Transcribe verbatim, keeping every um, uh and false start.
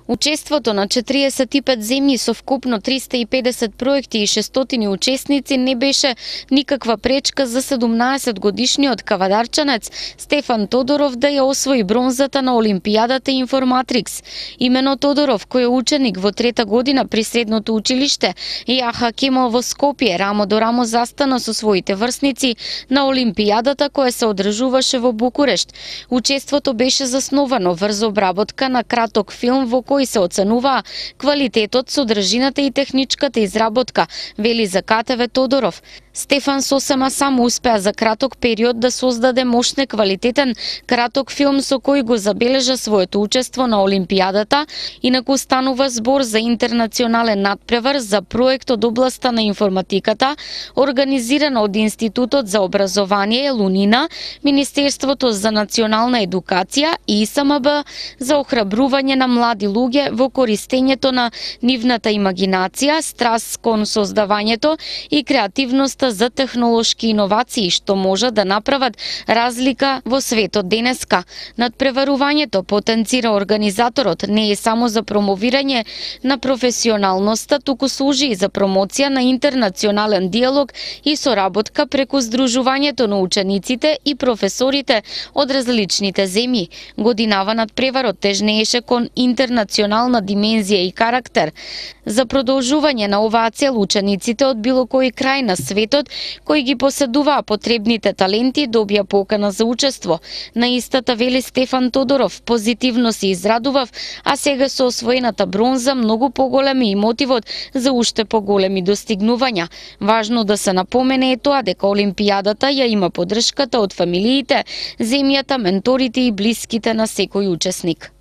Учеството на четириесет и пет земји со вкупно триста и педесет проекти и шестстотини учесници не беше никаква пречка за седумнаесет годишниот кавадарчанец Стефан Тодоров да ја освои бронзата на Олимпијадата Информатрикс. Имено Тодоров, кој е ученик во трета година при средното училиште Јаха Кемал во Скопје, рамо до рамо застана со своите врсници на Олимпијадата која се одржуваше во Букурешт. Учеството беше засновано врз обработка на краток филм во кои се оценуваа квалитетот, содржината и техничката изработка, вели за КТВ Тодоров. Стефан сосема само успеа за краток период да создаде мощен квалитетен краток филм со кој го забележа своето учество на Олимпијадата, инаку станува збор за интернационален надпревар за проект од областа на информатиката, организиран од Институтот за образование Лунина, Министерството за национална едукација и И С М Б за охрабрување на млади луѓе во користењето на нивната имагинација, страст кон создавањето и креативноста за технолошки иновации што може да направат разлика во светот денеска. Надпреварувањето, потенцира организаторот, не е само за промовирање на професионалноста, туку служи и за промоција на интернационален диалог и соработка преку здружувањето на учениците и професорите од различните земји. Годинава надпреварот тежнееше кон интернационална димензија и карактер. За продолжување на оваа цел учениците од било кој крај на светот кои ги поседуваа потребните таленти добија покана за учество. На истата, вели Стефан Тодоров, позитивно се израдував, а сега со освоената бронза многу поголем е и мотивот за уште поголеми достигнувања. Важно да се напомене е тоа дека Олимпијадата ја има поддршката од фамилиите, земјата, менторите и блиските на секој учесник.